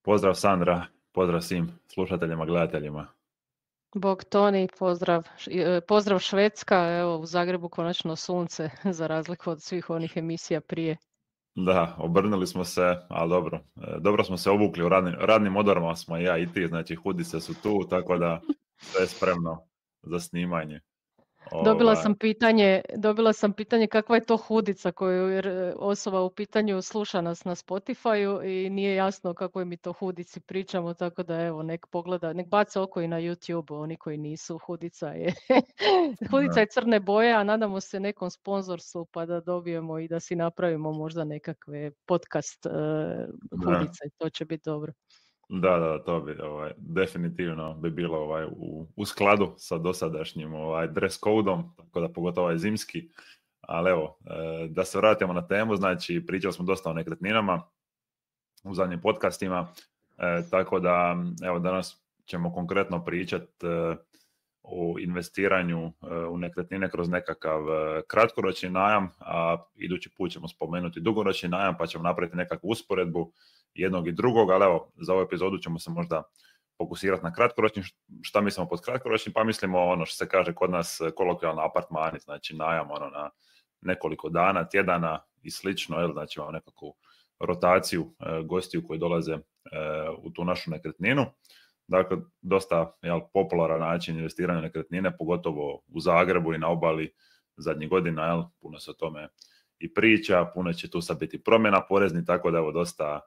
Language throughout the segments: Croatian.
Pozdrav Sandra, pozdrav svim slušateljima, gledateljima. Bog Toni, pozdrav Švedska, evo u Zagrebu konačno sunce za razliku od svih onih emisija prije. Da, obrnuli smo se, ali dobro. Dobro smo se obukli u radnim odorama smo ja i ti, znači hudice su tu, tako da sve je spremno za snimanje. Dobila sam pitanje kakva je to hudica koju osoba u pitanju sluša nas na Spotify-u i nije jasno o kakvoj mi to hudici pričamo, tako da evo nek pogleda, nek bace oko i na YouTube oni koji nisu. Hudica je crne boje, a nadamo se nekom sponzorstvu pa da dobijemo i da si napravimo možda nekakve podcast hudice, to će biti dobro. Da, to bi definitivno bi bilo u skladu sa dosadašnjim dress code-om, tako da pogotovo zimski. Ali evo, da se vratimo na temu, znači pričali smo dosta o nekretninama u zadnjim podcastima, tako da evo danas ćemo konkretno pričati o investiranju u nekretnine kroz nekakav kratkoročni najam, a idući put ćemo spomenuti dugoročni najam pa ćemo napraviti nekakvu usporedbu jednog i drugog, ali evo, za ovu epizodu ćemo se možda fokusirati na kratkoročni. Šta mislimo pod kratkoročnim? Pa mislimo ono što se kaže kod nas kolokvijalno apartmani, znači najam na nekoliko dana, tjedana i slično, znači imamo nekakvu rotaciju gostiju koji dolaze u tu našu nekretninu. Dakle, dosta popularan način investiranja u nekretnine, pogotovo u Zagrebu i na obali zadnjih godina, puno se o tome i priča, puno će tu sad biti promjena porezni, tako da evo dosta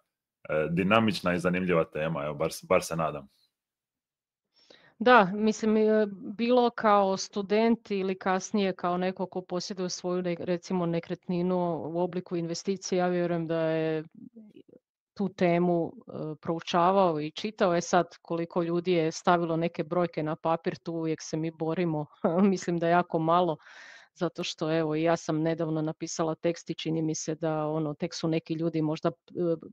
dinamična i zanimljiva tema, evo, bar se nadam. Da, mislim, bilo kao student ili kasnije kao neko ko posjeduje svoju recimo nekretninu u obliku investicije, ja vjerujem da je tu temu proučavao i čitao. Sad koliko ljudi je stavilo neke brojke na papir, tu uvijek se mi borimo, mislim da jako malo. Zato što evo ja sam nedavno napisala tekst i čini mi se da tek su neki ljudi možda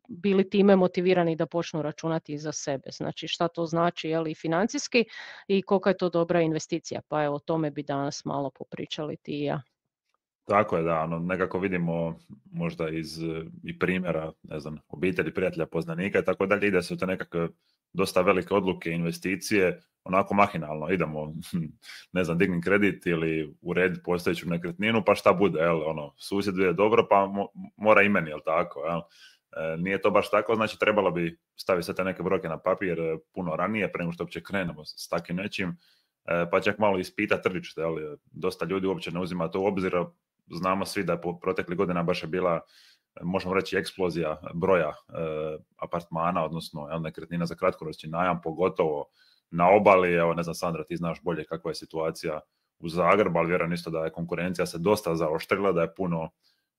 bili time motivirani da počnu računati i za sebe. Znači šta to znači i financijski i kolika je to dobra investicija. Pa evo o tome bi danas malo popričali ti i ja. Tako je, da, nekako vidimo možda iz i primjera, ne znam, obitelji, prijatelja, poznanika i tako dalje, ide se u te nekakve dosta velike odluke, investicije, onako mahinalno, idemo, ne znam, digni kredit ili urediti postojeću nekretninu, pa šta bude, susjed je dobro, pa mora i meni, tako, nije to baš tako, znači trebalo bi staviti sve te neke brojke na papir puno ranije, prema što uopće krenemo s takim nečim, pa čak malo ispita tržište, dosta ljudi uopće ne uzima to u obzir. Znamo svi da je proteklih godina baš je bila, možemo reći, eksplozija broja apartmana, odnosno nekretnina za kratkoročni najam, pogotovo na obali. Evo, ne znam, Sandra, ti znaš bolje kakva je situacija u Zagrebu, ali vjerujem isto da je konkurencija se dosta zaoštrila, da je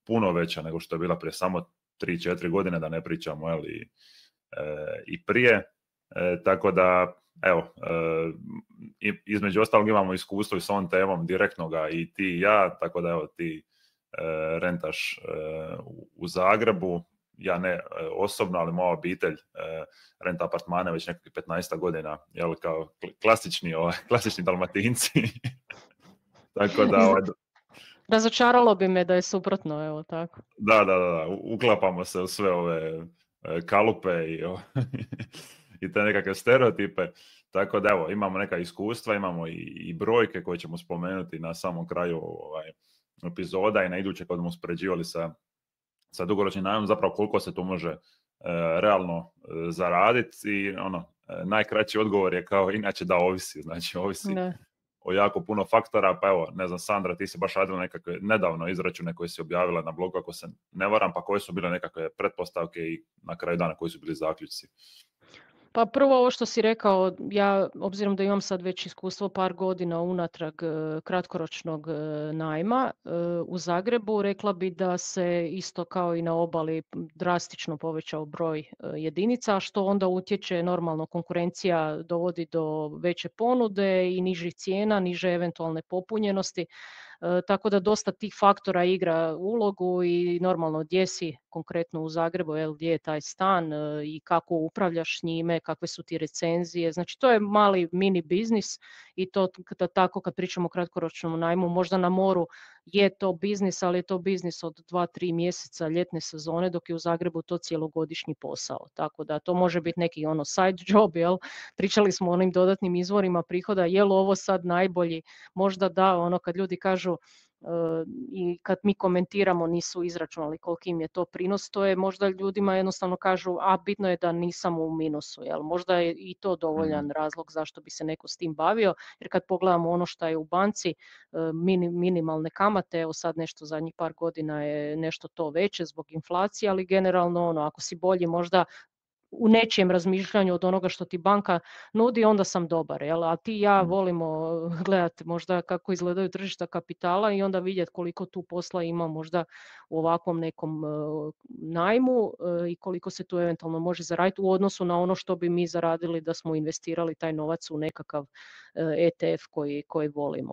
puno veća nego što je bila prije samo 3-4 godine, da ne pričamo i prije. Tako da, evo, između ostalog imamo iskustvo i s ovom temom direktnoga i ti i ja, tako da evo ti rentaš u Zagrebu, ja ne osobno, ali moja obitelj renta apartmane već nekakvih 15 godina, kao klasični Dalmatinci. Tako da... Razočaralo bi me da je suprotno, evo tako. Da, uklapamo se u sve ove kalupe i te nekakve stereotipe, tako da evo, imamo neka iskustva, imamo i brojke koje ćemo spomenuti na samom kraju epizoda i na iduće kad smo uspoređivali sa dugoročnim najmom, zapravo koliko se tu može realno zaraditi i najkraći odgovor je kao inače da ovisi, znači ovisi o jako puno faktora, pa evo, ne znam, Sandra, ti si baš radila nekakve nedavno izračune koje si objavila na blogu, ako se ne varam, pa koje su bile nekakve pretpostavke i na kraju dana koji su bili zaključci? Pa prvo ovo što si rekao, ja obzirom da imam sad već iskustvo par godina unatrag kratkoročnog najma u Zagrebu, rekla bi da se isto kao i na obali drastično povećao broj jedinica, što onda utječe, normalno konkurencija dovodi do veće ponude i nižih cijena, niže eventualne popunjenosti. tako da dosta tih faktora igra ulogu i normalno gdje si konkretno u Zagrebu, gdje je taj stan i kako upravljaš njime, kakve su ti recenzije, znači to je mali mini biznis i to tako kad pričamo o kratkoročnom najmu, možda na moru je to biznis, ali je to biznis od 2-3 mjeseca ljetne sezone, dok je u Zagrebu to cijelogodišnji posao. Tako da to može biti neki side job, pričali smo o onim dodatnim izvorima prihoda, je li ovo sad najbolji? Možda da, kad ljudi kažu i kad mi komentiramo nisu izračunali koliki im je to prinos, to je možda ljudima jednostavno kažu, a bitno je da nisam u minusu, možda je i to dovoljan razlog zašto bi se neko s tim bavio, jer kad pogledamo ono što je u banci, minimalne kamate, evo sad nešto zadnjih par godina je nešto to veće zbog inflacije, ali generalno ako si bolji možda u nečijem razmišljanju od onoga što ti banka nudi, onda sam dobar. A ti i ja volimo gledati možda kako izgledaju tržišta kapitala i onda vidjeti koliko tu posla ima možda u ovakvom nekom najmu i koliko se tu eventualno može zaraditi u odnosu na ono što bi mi zaradili da smo investirali taj novac u nekakav ETF koji volimo.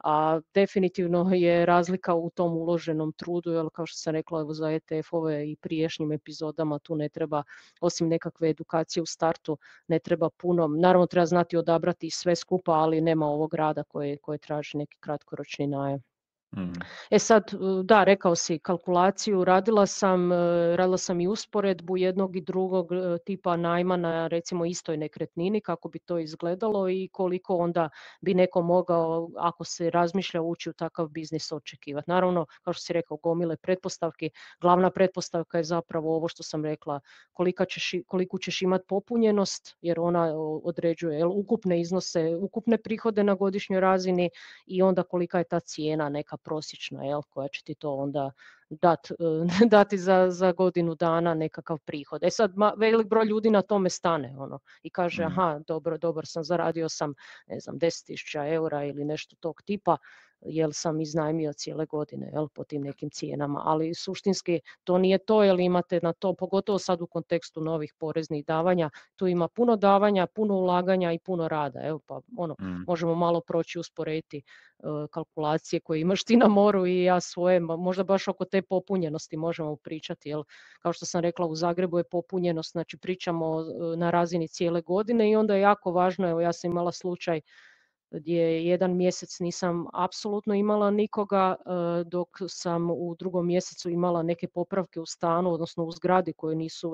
A definitivno je razlika u tom uloženom trudu, kao što sam rekla za ETF-ove i prijašnjim epizodama tu ne treba, osim nekakve edukacije u startu, ne treba puno. Naravno treba znati odabrati sve skupa, ali nema ovog rada koje traži neki kratkoročni najam. Sad, da, rekao si kalkulaciju, radila sam i usporedbu jednog i drugog tipa najma na recimo istoj nekretnini, kako bi to izgledalo i koliko onda bi neko mogao, ako se razmišlja, ući u takav biznis očekivati. Naravno, kao što si rekao, gomile pretpostavki, glavna pretpostavka je zapravo ovo što sam rekla, koliko ćeš imati popunjenost, jer ona određuje ukupne iznose, ukupne prihode na godišnjoj razini i onda kolika je ta cijena neka prosječna, koja će ti to onda dati za godinu dana nekakav prihod. Sad, velik broj ljudi na tome stane i kaže, aha, dobar sam, zaradio sam, ne znam, 10.000 eura ili nešto tog tipa, jel sam iznajmio cijele godine po tim nekim cijenama, ali suštinski to nije to, jer imate na to, pogotovo sad u kontekstu novih poreznih davanja, tu ima puno davanja, puno ulaganja i puno rada, pa možemo malo proći usporediti kalkulacije koje imaš ti na moru i ja svoje, možda baš oko te popunjenosti možemo pričati, jer kao što sam rekla, u Zagrebu je popunjenost, znači pričamo na razini cijele godine i onda je jako važno, evo ja sam imala slučaj gdje jedan mjesec nisam apsolutno imala nikoga, dok sam u drugom mjesecu imala neke popravke u stanu, odnosno u zgradi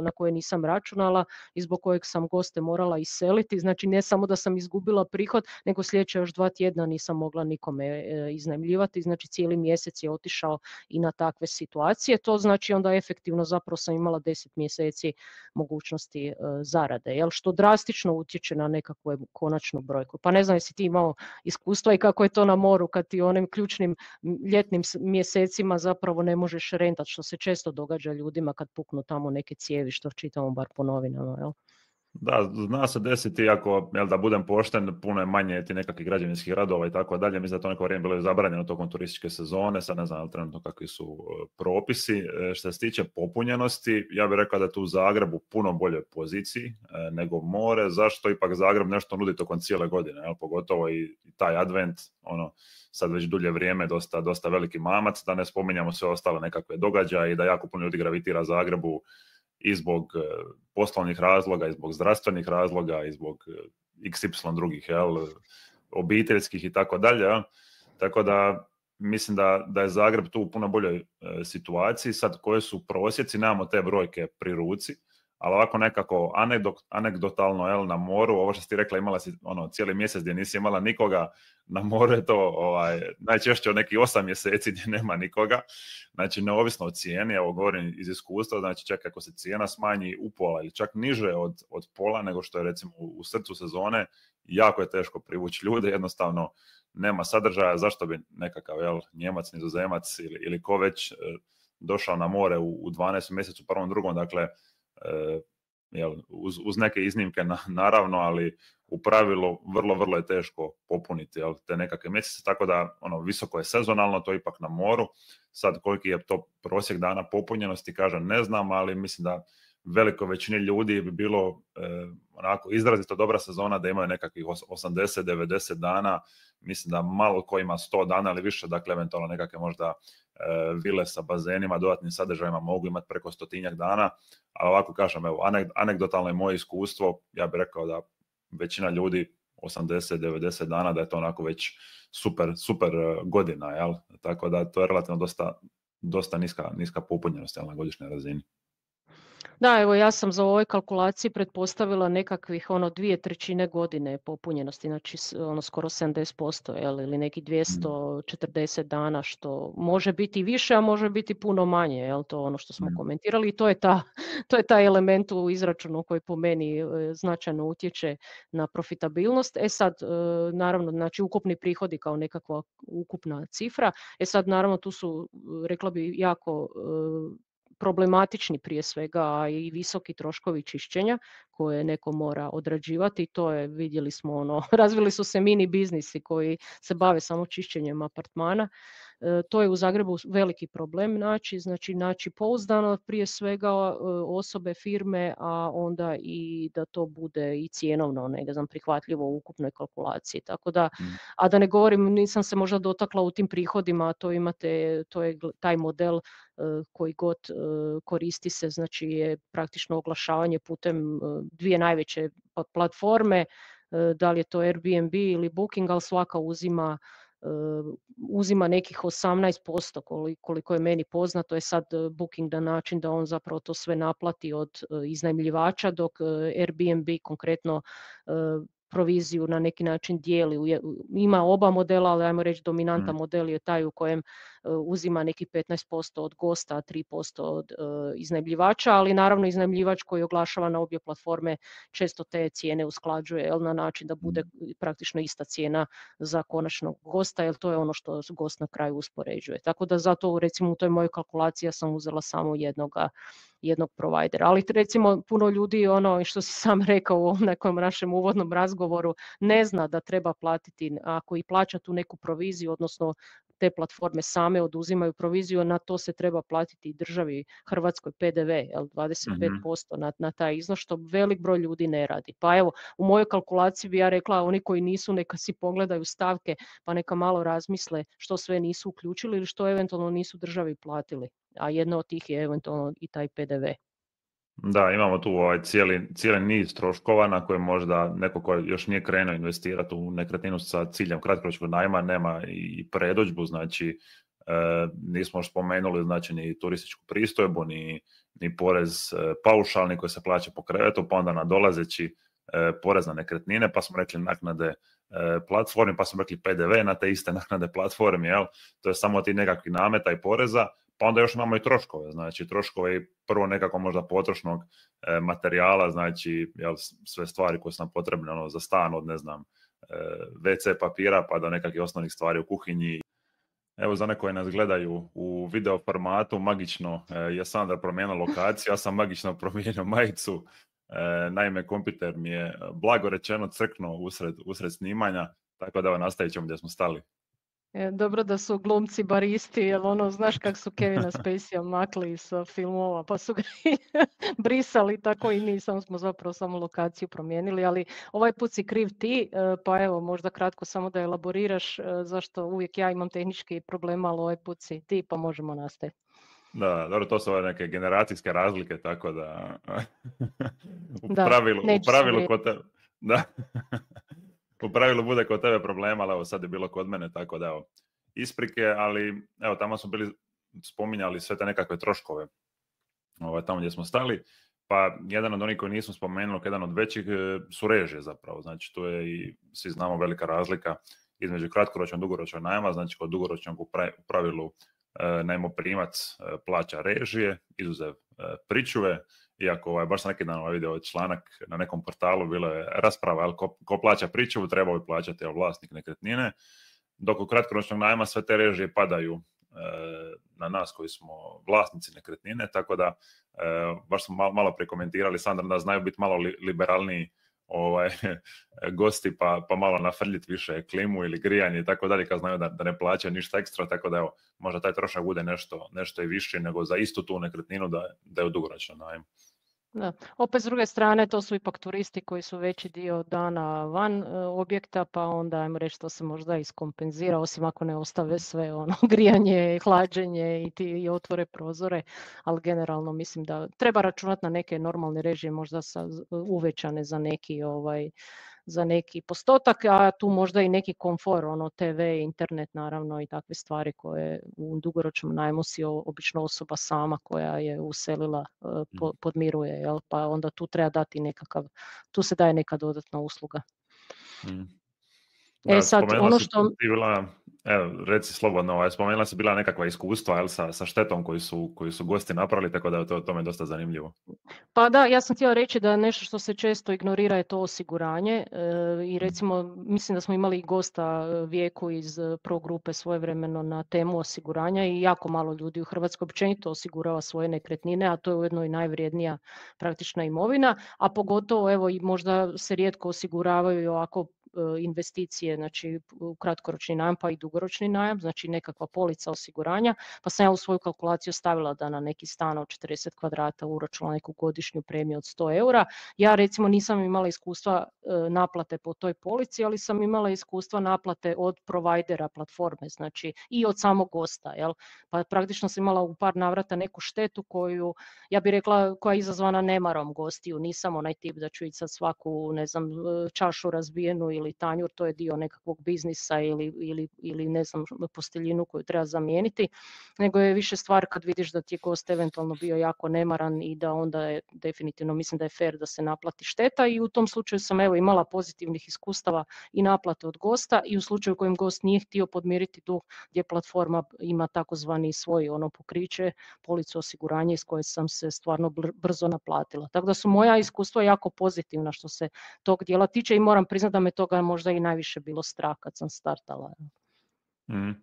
na koje nisam računala i zbog kojeg sam goste morala iseliti. Znači ne samo da sam izgubila prihod, nego sljedeća još 2 tjedna nisam mogla nikome iznajmljivati, znači cijeli mjesec je otišao i na takve situacije. To znači onda efektivno zapravo sam imala 10 mjeseci mogućnosti zarade, što drastično utječe na nekakvu konačnu brojku. Pa ne znam jesi ti imao iskustva i kako je to na moru kad ti onim ključnim ljetnim mjesecima zapravo ne možeš rentati, što se često događa ljudima kad puknu tamo neke cijevi, što čitamo bar po novinama, Da, zna se desiti, ako, da budem pošten, puno je manje ti nekakvih građevinskih radova i tako dalje. Mislim da to neko vrijeme bilo zabranjeno tokom turističke sezone, sad ne znam trenutno kakvi su propisi. Što se tiče popunjenosti, ja bih rekao da je tu u Zagrebu puno bolje poziciji nego more. Zašto ipak Zagreb nešto nudi tokom cijele godine, pogotovo i taj advent, sad već dulje vrijeme dosta veliki mamac, da ne spominjamo sve ostale nekakve događaje i da jako puno ljudi gravitira Zagrebu i zbog poslovnih razloga, i zbog zdravstvenih razloga, i zbog XY drugih, obiteljskih i tako dalje. Tako da mislim da je Zagreb tu u puno boljoj situaciji. Sad koje su prosjeci, nemamo te brojke pri ruci, ali ovako nekako anegdotalno na moru, ovo što si ti rekla, imala si cijeli mjesec gdje nisi imala nikoga, na moru je to najčešće od nekih 8 mjeseci gdje nema nikoga, znači neovisno o cijeni, evo govorim iz iskustva, znači čak ako se cijena smanji upola ili čak niže od pola nego što je recimo u srcu sezone, jako je teško privući ljude, jednostavno nema sadržaja, zašto bi nekakav Njemac, Nizozemac ili ko već došao na more u 12 mjesecu, prvom, drugom, dakle uz neke iznimke naravno, ali u pravilu vrlo je teško popuniti te nekakve mjesece, tako da visoko je sezonalno, to je ipak na moru. Sad koliki je to prosjek dana popunjenosti, kažem, ne znam, ali mislim da velikoj većini ljudi bi bilo onako izrazito dobra sezona da imaju nekakvih 80-90 dana. Mislim da malo ko ima 100 dana ili više, dakle eventualno nekakve možda vile sa bazenima, dodatnim sadržajima mogu imati preko 100-tinjak dana, ali ovako kažem, evo, anegdotalno je moje iskustvo, ja bih rekao da većina ljudi 80-90 dana, da je to onako već super godina, jel? Tako da to je relativno dosta niska popunjenost na godišnjoj razini. Da, evo ja sam za ovoj kalkulaciji pretpostavila nekakvih 2/3 godine popunjenosti, znači skoro 70%, ili neki 240 dana, što može biti više, a može biti puno manje, jel, to ono što smo komentirali, i to je taj element u izračunu koji po meni značajno utječe na profitabilnost. Sad, naravno, znači ukupni prihodi kao nekakva ukupna cifra, sad naravno tu su, rekla bi, jako problematični prije svega i visoki troškovi čišćenja koje neko mora odrađivati. To je, vidjeli smo, razvili su se mini biznisi koji se bave samo čišćenjem apartmana. To je u Zagrebu veliki problem naći pouzdano prije svega osobe, firme, a onda i da to bude i cjenovno prihvatljivo u ukupnoj kalkulaciji. Tako da, a da ne govorim, nisam se možda dotakla u tim prihodima, to je taj model koji god koristi se, znači je praktično oglašavanje putem dvije najveće platforme, da li je to Airbnb ili Booking, ali svaka uzima nekih 18%, koliko je meni poznato. Je sad Booking na način da on zapravo to sve naplati od iznajmljivača, dok Airbnb konkretno proviziju na neki način dijeli. Ima oba modela, ali ajmo reći dominantan model je taj u kojem uzima neki 15% od gosta, 3% od iznajmljivača, ali naravno iznajmljivač koji oglašava na obje platforme često te cijene usklađuje na način da bude praktično ista cijena za konačnog gosta, jer to je ono što gost na kraju uspoređuje. Tako da zato recimo u toj mojoj kalkulaciji ja sam uzela samo jednog provajdera. Ali recimo puno ljudi, što si sam rekao u nekom našem uvodnom razgovoru, ne zna da treba platiti, ako i plaća tu neku proviziju, odnosno te platforme same oduzimaju proviziju, na to se treba platiti državi Hrvatskoj PDV, 25% na taj iznos, što velik broj ljudi ne radi. Pa evo, u mojoj kalkulaciji bi ja rekla, oni koji nisu, neka si pogledaju stavke, pa neka malo razmisle što sve nisu uključili ili što eventualno nisu državi platili. A jedna od tih je eventualno i taj PDV. Da, imamo tu cijeli niz troškova na koje možda neko ko još nije krenuo investirati u nekretninu sa ciljem kratkoročnog najma nema i predodžbu, znači nismo još spomenuli znači ni turističku pristojbu, ni porez paušalni koji se plaća po krevetu, pa onda nadolazeći porez na nekretnine, pa smo rekli naknade platformi, pa smo rekli PDV na te iste naknade platformi, jel? To je samo ti nekakvi nameta i poreza. Pa onda još imamo i troškove, znači troškove prvo nekako možda potrošnog materijala, znači sve stvari koje su nam potrebne za stan, od ne znam WC papira pa do nekakvih osnovnih stvari u kuhinji. Evo za neko koji nas gledaju u video formatu, magično je Sandra promijenila lokaciju, ja sam magično promijenio majicu, naime kompjuter mi je blago rečeno crknuo usred snimanja, tako da nastavit ćemo gdje smo stali. Dobro da su glumci baristi, jer znaš kako su Kevina Spacey makli sa filmova, pa su ga brisali, tako i mi, smo zapravo samo lokaciju promijenili, ali ovaj put si kriv ti, pa evo možda kratko samo da elaboriraš zašto uvijek ja imam tehnički problema, ali ovaj put si ti, pa možemo nastaviti. Da, dobro, to su ove neke generacijske razlike, tako da u pravilu bude kod tebe problema, ali evo sad je bilo kod mene, tako da evo, isprike, ali evo tamo smo bili spominjali sve te nekakve troškove tamo gdje smo stali, pa jedan od onih koji nismo spomenuli, jedan od većih su režije zapravo, znači tu je i svi znamo velika razlika između kratkoročnog i dugoročnog najma, znači kod dugoročnog u pravilu najmoprimac plaća režije, izuzev pričuve, iako baš sam neki dan vidio članak na nekom portalu, bilo je rasprava, ko plaća pričuvu, trebao bi plaćati vlasnik nekretnine, dok u kratkoročnog najma sve te režije padaju na nas koji smo vlasnici nekretnine, tako da baš smo malo prekomentirali, Sandra, da znaju biti malo liberalniji gosti pa malo nafrljiti više klimu ili grijanje i tako dalje, kad znaju da ne plaćaju ništa ekstra, tako da evo, možda taj trošak bude nešto i više nego za istu tu nekretninu da je u dugoročnom najmu. Da. Opet s druge strane to su ipak turisti koji su veći dio dana van objekta, pa onda ajmo reći to se možda iskompenzira, osim ako ne ostave sve ono grijanje, hlađenje i otvore prozore, ali generalno mislim da treba računati na neke normalne režije, možda uvećane za neki postotak, a tu možda i neki komfor, ono TV, internet naravno i takve stvari koje u dugoročnom najmu si obično osoba sama koja je uselila podmiruje, jel? Pa onda tu treba dati tu se daje neka dodatna usluga. Da, sad, ono što... Evo, reci slobodno, spomenula si bila nekakva iskustva, jel, sa štetom koji su gosti napravili, tako da je to me dosta zanimljivo. Pa da, ja sam htjela reći da nešto što se često ignorira je to osiguranje i recimo mislim da smo imali gosta Vijeku iz Pro grupe svojevremeno na temu osiguranja i jako malo ljudi u Hrvatskoj općenito osigurava svoje nekretnine, a to je ujedno i najvrijednija praktična imovina, a pogotovo evo i možda se rijetko osiguravaju i ovako investicije, znači u kratkoročni najam pa i dugoročni najam, znači nekakva polica osiguranja, pa sam ja u svoju kalkulaciju stavila da na neki stan od 40 kvadrata uračunala neku godišnju premiju od 100 eura. Ja recimo nisam imala iskustva naplate po toj polici, ali sam imala iskustva naplate od provajdera platforme, znači i od samog gosta, jel? Pa praktično sam imala u par navrata neku štetu koju, ja bih rekla, koja je izazvana nemarom gostiju, nisam onaj tip da ću ići sad svaku, ne znam, čašu razbijenu ili tanjur, to je dio nekakvog biznisa ili ne znam, posteljinu koju treba zamijeniti, nego je više stvar kad vidiš da ti je gost eventualno bio jako nemaran i da onda je definitivno, mislim da je fair da se naplati šteta i u tom slučaju sam evo imala pozitivnih iskustava i naplate od gosta i u slučaju kojem gost nije htio podmiriti dug gdje platforma ima takozvani svoj ono pokriće, policu osiguranja iz koje sam se stvarno brzo naplatila. Tako da su moja iskustva jako pozitivna što se tog dijela tiče i moram priznati da me toga možda i najviše bilo strah kad sam startala.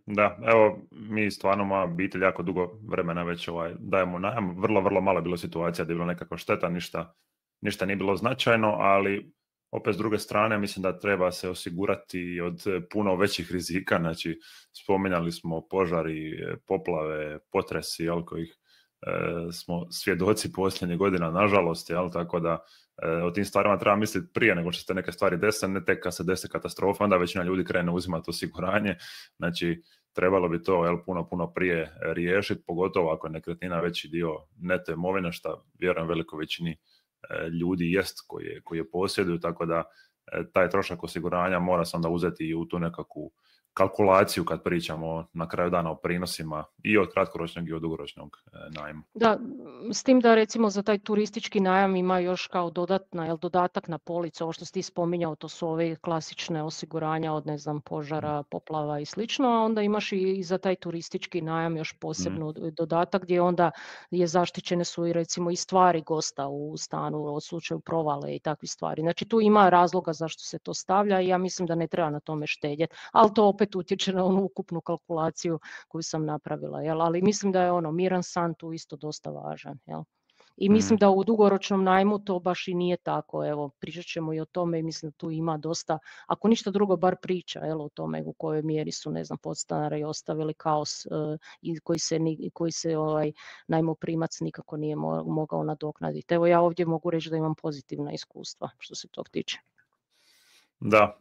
Da, evo mi stvarno, moja obitelj jako dugo vremena već dajemo najam, vrlo malo je bilo situacija da je bilo nekakva šteta, ništa nije bilo značajno, ali opet s druge strane mislim da treba se osigurati od puno većih rizika, znači spominjali smo požari, poplave, potresi, kojih smo svjedoci posljednjih godina, nažalost, tako da o tim stvarima treba misliti prije nego što se neke stvari dese, ne tek kad se desi katastrofa, onda većina ljudi krene uzimati osiguranje, znači trebalo bi to puno prije riješiti, pogotovo ako je nekretnina veći dio neto imovine, što vjerujem velikoj većini ljudi jest koji je posjeduju, tako da taj trošak osiguranja mora se onda uzeti i u tu nekakvu kalkulaciju kad pričamo na kraju dana o prinosima i od kratkoročnog i od dugoročnog najma. Da, s tim da recimo za taj turistički najam ima još kao dodatak na policu, ovo što si ti spominjao, to su ove klasične osiguranja od ne znam požara, poplava i slično, a onda imaš i za taj turistički najam još posebno dodatak gdje onda je zaštićene su i recimo i stvari gosta u stanu u slučaju provale i takvi stvari. Znači tu ima razloga zašto se to stavlja i ja mislim da ne treba na tome štedjeti, ali to opet utječe na onu ukupnu kalkulaciju koju sam napravila, jel? Ali mislim da je miran san tu isto dosta važan, jel? I mislim da u dugoročnom najmu to baš i nije tako, evo, pričat ćemo i o tome i mislim da tu ima dosta, ako ništa drugo, bar priča, jel, o tome u kojoj mjeri su, ne znam, podstanari ostavili kaos i koji se najmoprimac nikako nije mogao nadoknaditi. Evo ja ovdje mogu reći da imam pozitivna iskustva što se tog tiče. Da,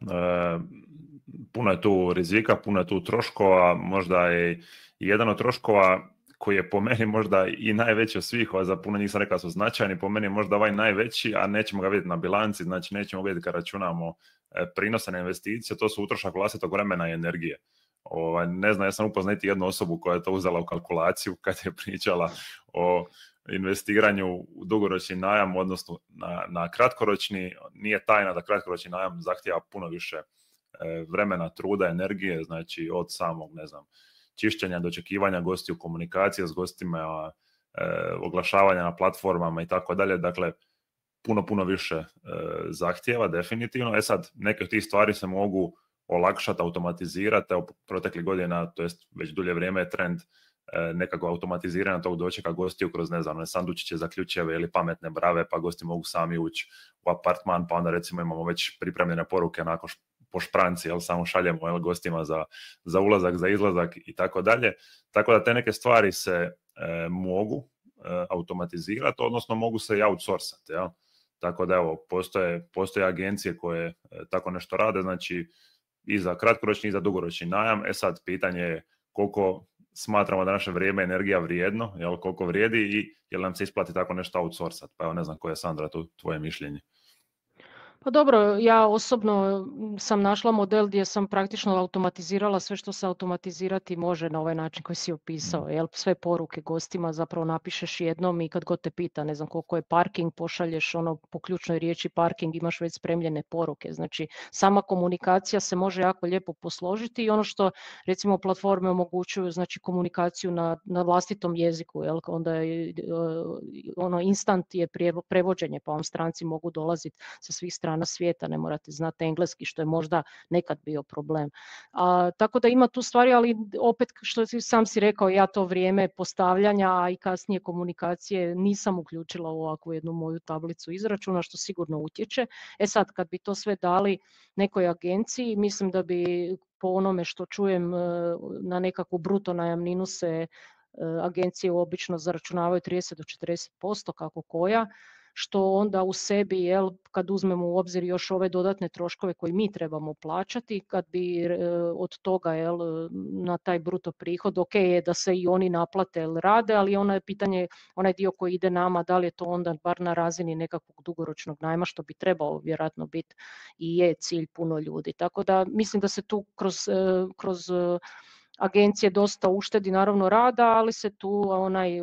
puno je tu rizika, puno je tu troškova, možda je jedan od troškova koji je po meni možda i najveći od svih, za puno njih sam rekao su značajni, po meni je možda ovaj najveći, a nećemo ga vidjeti na bilanci, znači nećemo vidjeti kad računamo prinose na investicije, to su utrošak vlastitog vremena i energije. Ne znam, ja sam upoznati jednu osobu koja je to uzela u kalkulaciju kad je pričala o investiranju u dugoročni najam, odnosno na kratkoročni. Nije tajna da kratkoročni najam zahtijeva puno više vremena, truda, energije, znači od samog, ne znam, čišćenja, dočekivanja gostiju, komunikacije s gostima, oglašavanja na platformama i tako dalje, dakle puno više zahtjeva definitivno. Sad, neke od tih stvari se mogu olakšati, automatizirati, proteklih godina, to jest već dulje vrijeme je trend nekako automatiziranja tog dočeka gostiju kroz, ne znam, sandučiće za ključeve ili pametne brave, pa gosti mogu sami ući u apartman, pa onda recimo imamo već pripremljene poruke onako po špranci, samo šaljemo gostima za ulazak, za izlazak i tako dalje. Tako da te neke stvari se mogu automatizirati, odnosno mogu se i outsourcati. Jel? Tako da evo, postoje agencije koje tako nešto rade, znači i za kratkoročni i za dugoročni najam. Sad pitanje je koliko smatramo da naše vrijeme i energija vrijedno, jel, koliko vrijedi i jel nam se isplati tako nešto outsourcati. Pa evo, ne znam koje je, Sandra, tu tvoje mišljenje. Pa dobro, ja osobno sam našla model gdje sam praktično automatizirala sve što se automatizirati može na ovaj način koji si opisao. Jel? Sve poruke gostima zapravo napišeš jednom i kad god te pita, ne znam koliko je parking, pošalješ ono po ključnoj riječi parking, imaš već spremljene poruke. Znači sama komunikacija se može jako lijepo posložiti i ono što recimo platforme omogućuju, znači komunikaciju na vlastitom jeziku, jel? Onda je ono instant je prevođenje, pa vam stranci mogu dolaziti sa svih strana svijeta, ne morate znati engleski, što je možda nekad bio problem. Tako da ima tu stvari, ali opet što sam si rekao, ja to vrijeme postavljanja, a i kasnije komunikacije nisam uključila u ovakvu jednu moju tablicu izračuna, što sigurno utječe. Sad, kad bi to sve dali nekoj agenciji, mislim da bi po onome što čujem na nekakvu bruto najamninu se agencije obično zaračunavaju 30 do 40%, kako koja, što onda u sebi, jel, kad uzmemo u obzir još ove dodatne troškove koje mi trebamo plaćati, kad bi od toga, jel, na taj bruto prihod, ok je da se i oni naplate jel, rade, ali ono je pitanje, onaj dio koji ide nama, da li je to onda bar na razini nekakvog dugoročnog najma, što bi trebao vjerojatno biti i je cilj puno ljudi. Tako da mislim da se tu kroz agencije dosta uštedi naravno rada, ali se tu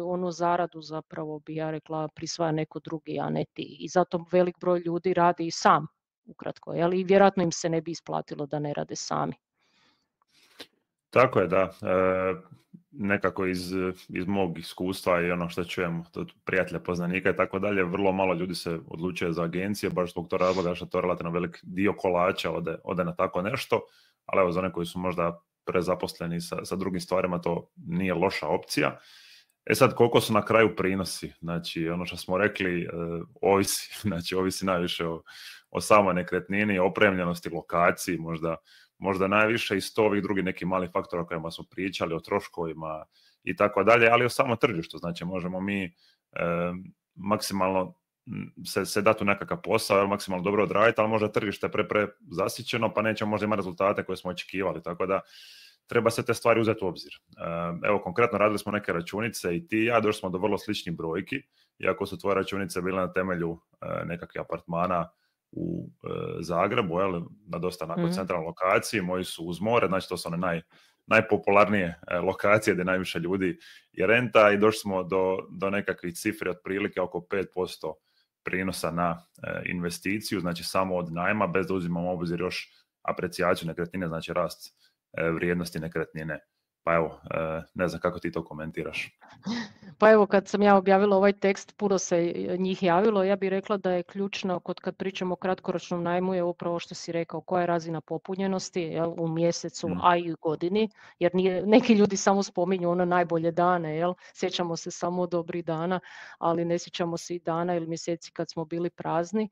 onu zaradu zapravo bi ja rekla prisvaja neko drugi, a ne ti. I zato velik broj ljudi radi i sam, ukratko, i vjerojatno im se ne bi isplatilo da ne rade sami. Tako je, da. Nekako iz mog iskustva i ono što čujem od prijatelja, poznanika i tako dalje, vrlo malo ljudi se odlučuje za agencije, baš zbog tog razloga što to relativno velik dio kolača ode na tako nešto, ali evo za one koji su možda prezaposleni sa drugim stvarima, to nije loša opcija. Sad, koliko su na kraju prinosi? Znači, ono što smo rekli, ovisi. Znači, ovisi najviše o samoj nekretnini, opremljenosti, lokaciji, možda najviše i 100 ovih drugih nekih malih faktora o kojima smo pričali, o troškovima i tako dalje, ali o samom tržištu. Znači, možemo mi maksimalno se dati u nekakav posao, maksimalno dobro odraditi, ali možda tržište je zasićeno, pa nećemo možda imati rezultate koje smo očekivali, tako da treba se te stvari uzeti u obzir. Evo, konkretno radili smo neke računice i ti i ja, došli smo do vrlo sličnih brojki, iako su tvoje računice bile na temelju nekakvih apartmana u Zagrebu, na dosta centralnoj lokaciji, moji su uz more, znači to su one najpopularnije lokacije gdje najviše ljudi je renta i došli smo do nekakvih cifri otprilike oko 5% prinosa na investiciju, znači samo od najma, bez da uzimamo u obzir još aprecijaciju nekretnine, znači rast vrijednosti nekretnine. Pa evo, ne znam kako ti to komentiraš. Pa evo, kad sam ja objavila ovaj tekst, puno se njih javilo. Ja bih rekla da je ključno kad pričamo o kratkoročnom najmu je upravo što si rekao, koja je razina popunjenosti u mjesecu, a i u godini, jer neki ljudi samo spominju ono najbolje dane, sjećamo se samo dobrih dana, ali ne sjećamo se i dana ili mjeseci kad smo bili prazni.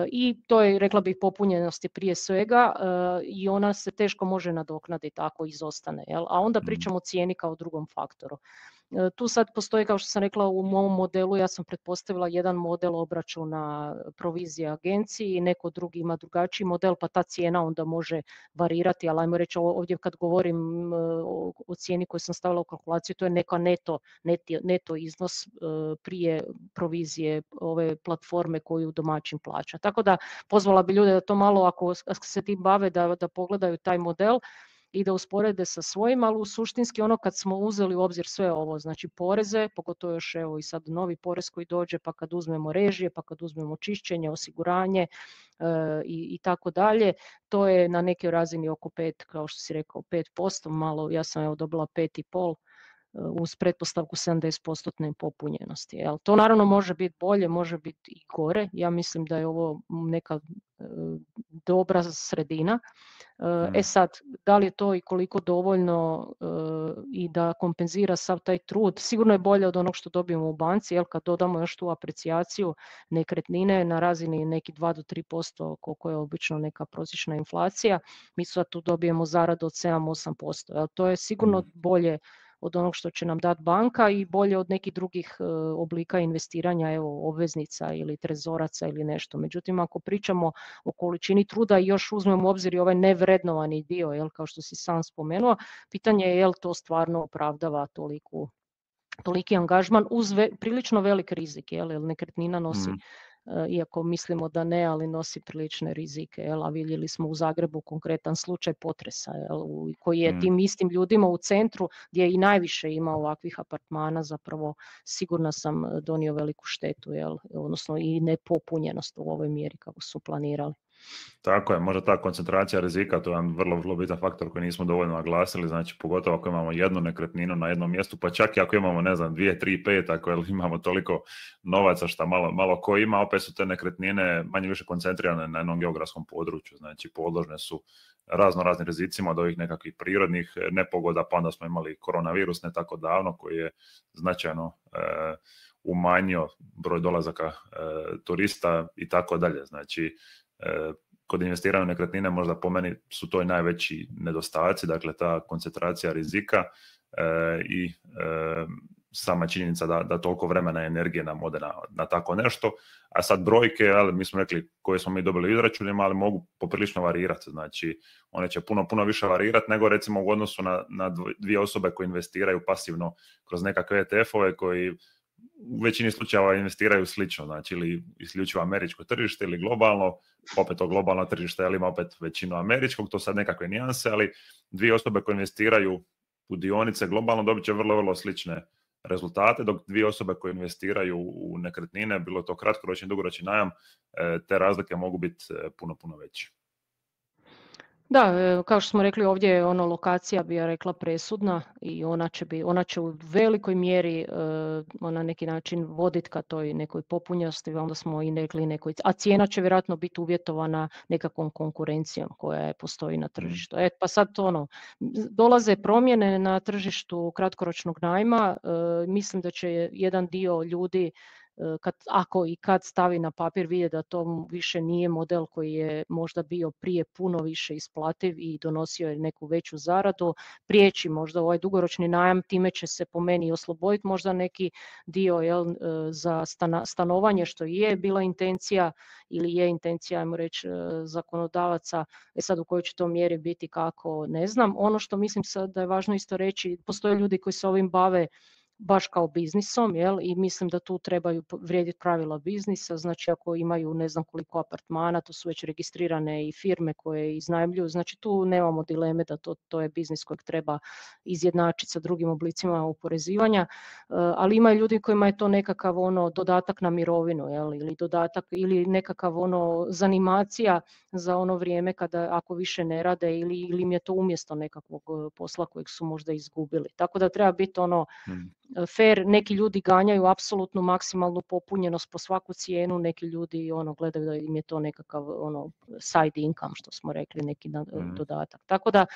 I to je, rekla bih, popunjenosti prije svega i ona se teško može nadoknaditi ako izostane. A onda pričamo o cijeni kao drugom faktoru. Tu sad postoji, kao što sam rekla, u mom modelu, ja sam pretpostavila jedan model obračuna provizije agenciji, neko drugi ima drugačiji model, pa ta cijena onda može varirati, ali ajmo reći ovdje kad govorim o cijeni koju sam stavila u kalkulaciju, to je neka neto iznos prije provizije ove platforme koju domaćin plaća. Tako da pozvala bi ljude da to malo, ako se tim bave, da pogledaju taj model i da usporede sa svojim, ali suštinski ono kad smo uzeli u obzir sve ovo, znači poreze, pogotovo još evo i sad novi porez koji dođe, pa kad uzmemo režije, pa kad uzmemo čišćenje, osiguranje i tako dalje, to je na nekoj razini oko 5, kao što si rekao, 5%, malo, ja sam evo dobila 5,5%, uz pretpostavku 70% popunjenosti. To naravno može biti bolje, može biti i gore. Ja mislim da je ovo neka dobra sredina. Sad, da li je to i koliko dovoljno i da kompenzira sav taj trud, sigurno je bolje od onog što dobijemo u banci, kad dodamo još tu aprecijaciju nekretnine na razini neki 2 do 3%, koliko je obično neka prosječna inflacija, mi sad tu dobijemo zaradu od 7-8%. To je sigurno bolje od onog što će nam dati banka i bolje od nekih drugih oblika investiranja, evo obveznica ili trezoraca ili nešto. Međutim, ako pričamo o količini truda i još uzmemo u obzir i ovaj nevrednovani dio, jel, kao što si sam spomenuo, pitanje je jel to stvarno opravdava toliki angažman uz prilično velik rizik, jer nekretnina nosi, iako mislimo da ne, ali nosi prilične rizike. A vidjeli smo u Zagrebu konkretan slučaj potresa, koji je tim istim ljudima u centru, gdje i najviše ima ovakvih apartmana, zapravo sigurna sam donio veliku štetu, odnosno i nepopunjenost u ovoj mjeri kako su planirali. Tako je, možda ta koncentracija rizika, to je jedan vrlo, vrlo bitan faktor koji nismo dovoljno naglasili, znači pogotovo ako imamo jednu nekretninu na jednom mjestu, pa čak i ako imamo, ne znam, 2, 3, 5, ako imamo toliko novaca što malo ko ima, opet su te nekretnine manje više koncentrirane na jednom geografskom području, znači podložne su raznim rizicima od ovih nekakvih prirodnih nepogoda, pa onda smo imali koronavirus ne tako davno koji je značajno umanjio broj dolazaka turista i tako dalje, znači kod investiranja u nekretnine možda po meni su to i najveći nedostaci, dakle ta koncentracija rizika i sama činjenica da toliko vremena i energije nam ode na tako nešto, a sad brojke, ali mi smo rekli koje smo mi dobili u izračunima, ali mogu poprilično varirati, znači one će puno više varirati nego recimo u odnosu na dvije osobe koje investiraju pasivno kroz nekakve ETF-ove koji u većini slučajeva investiraju slično, znači ili isključivo američko tržište ili globalno, opet to globalno tržište, ali ima opet većinu američkog, to sad nekakve nijanse, ali dvije osobe koje investiraju u dionice globalno dobit će vrlo, vrlo slične rezultate, dok dvije osobe koje investiraju u nekretnine, bilo to kratkoročni, dugoročni najam, te razlike mogu biti puno veće. Da, kao što smo rekli ovdje je lokacija, bi ja rekla, presudna i ona će u velikoj mjeri na neki način voditi ka toj nekoj popunjenosti, onda smo i rekli nekoj, a cijena će vjerojatno biti uvjetovana nekakvom konkurencijom koja postoji na tržištu. Pa sad dolaze promjene na tržištu kratkoročnog najma, mislim da će jedan dio ljudi ako i kad stavi na papir vidi da to više nije model koji je možda bio prije puno više isplativ i donosio je neku veću zaradu, prijeći možda ovaj dugoročni najam, time će se po meni osloboditi možda neki dio za stanovanje, što je bila intencija ili je intencija, ajmo reći, zakonodavaca. Sad u kojoj će to mjeri biti, kako, ne znam. Ono što mislim sad da je važno isto reći, postoje ljudi koji se ovim bave baš kao biznisom, i mislim da tu trebaju vrijediti pravila biznisa, znači ako imaju ne znam koliko apartmana, to su već registrirane i firme koje iznajmljuju, znači tu nemamo dileme da to je biznis kojeg treba izjednačiti sa drugim oblicima oporezivanja, ali ima ljudi kojima je to nekakav dodatak na mirovinu, ili dodatak ili nekakav zanimacija za ono vrijeme kada ako više ne rade ili im je to umjesto nekakvog posla kojeg su možda izgubili. Tako da treba biti fair, neki ljudi ganjaju apsolutnu maksimalnu popunjenost po svaku cijenu, neki ljudi gledaju da im je to nekakav side income, što smo rekli, neki dodatak. Tako da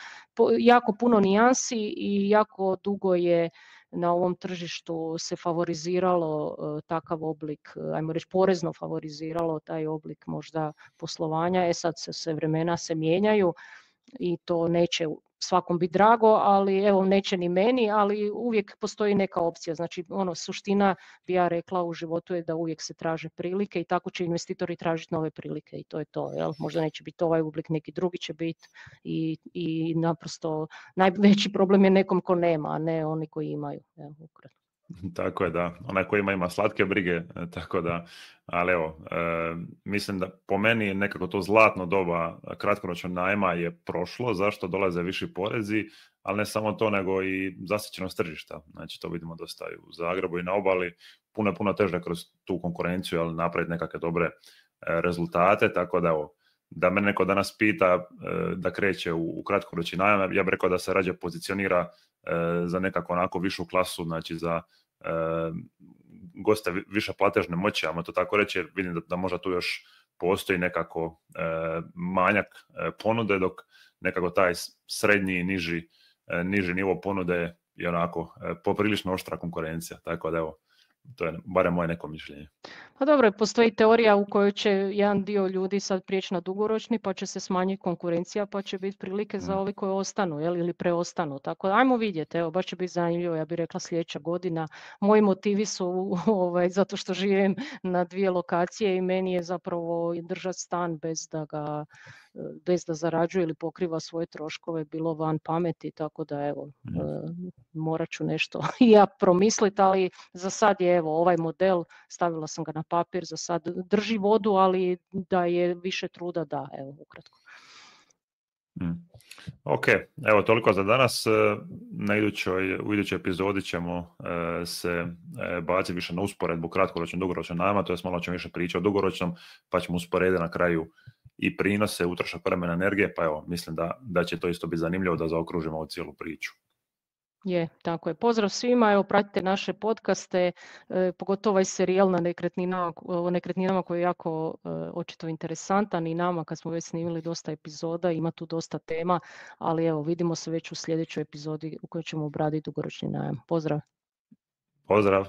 jako puno nijansi i jako dugo je na ovom tržištu se favoriziralo takav oblik, ajmo reći porezno favoriziralo taj oblik možda poslovanja. Sad se vremena se mijenjaju i to neće svakom biti drago, ali evo neće ni meni, ali uvijek postoji neka opcija. Znači suština bi ja rekla u životu je da uvijek se traže prilike i tako će investitori tražiti nove prilike i to je to. Možda neće biti ovaj oblik, neki drugi će biti i naprosto najveći problem je nekom ko nema, a ne oni koji imaju. Ukratko. Tako je, da. Onaj koji ima slatke brige, tako da, ali evo, mislim da po meni nekako to zlatno doba kratkoročnog najma je prošlo, zašto dolaze viši porezi, ali ne samo to, nego i zasićenost tržišta. Znači, to vidimo dosta i u Zagrebu i na obali, puno teže kroz tu konkurenciju, ali napraviti nekakve dobre rezultate, tako da evo, da me neko danas pita da kreće u kratkoročni najam, ja bih rekao da se rađe pozicionira za nekako onako višu klasu, znači za goste više platežne moći, ajmo to tako reći, jer vidim da možda tu još postoji nekako manjak ponude, dok nekako taj srednji i niži nivo ponude je onako poprilično oštra konkurencija, tako da evo, To je barem moje neko mišljenje. Pa dobro, postoji teorija u kojoj će jedan dio ljudi sad prijeći na dugoročni, pa će se smanjiti konkurencija, pa će biti prilike za ovi koji ostanu, ili preostanu. Tako da ajmo vidjeti, evo, baš će biti zanimljivo, ja bih rekla sljedeća godina. Moji motivi su zato što živim na 2 lokacije i meni je zapravo držati stan bez da zarađuje ili pokriva svoje troškove bilo van pameti, tako da evo, morat ću nešto i ja promisliti, ali za sad je evo ovaj model, stavila sam ga na papir, za sad drži vodu, ali da je više truda, da, evo, ukratko. Ok, evo toliko za danas. U idućoj epizodi ćemo se baciti više na usporedbu kratkoročnog dugoročnog najma, to je malo ćemo više pričati o dugoročnom, pa ćemo usporediti na kraju i prinose, utrošak vremena, energije, pa evo, mislim da će to isto biti zanimljivo da zaokružimo ovu cijelu priču. Je, tako je. Pozdrav svima, evo pratite naše podcaste, pogotovo ovaj serijal na nekretninama koji je jako očito interesantan i nama kad smo već snimili dosta epizoda, ima tu dosta tema, ali evo vidimo se već u sljedećoj epizodi u kojoj ćemo obraditi dugoročni najam. Pozdrav! Pozdrav!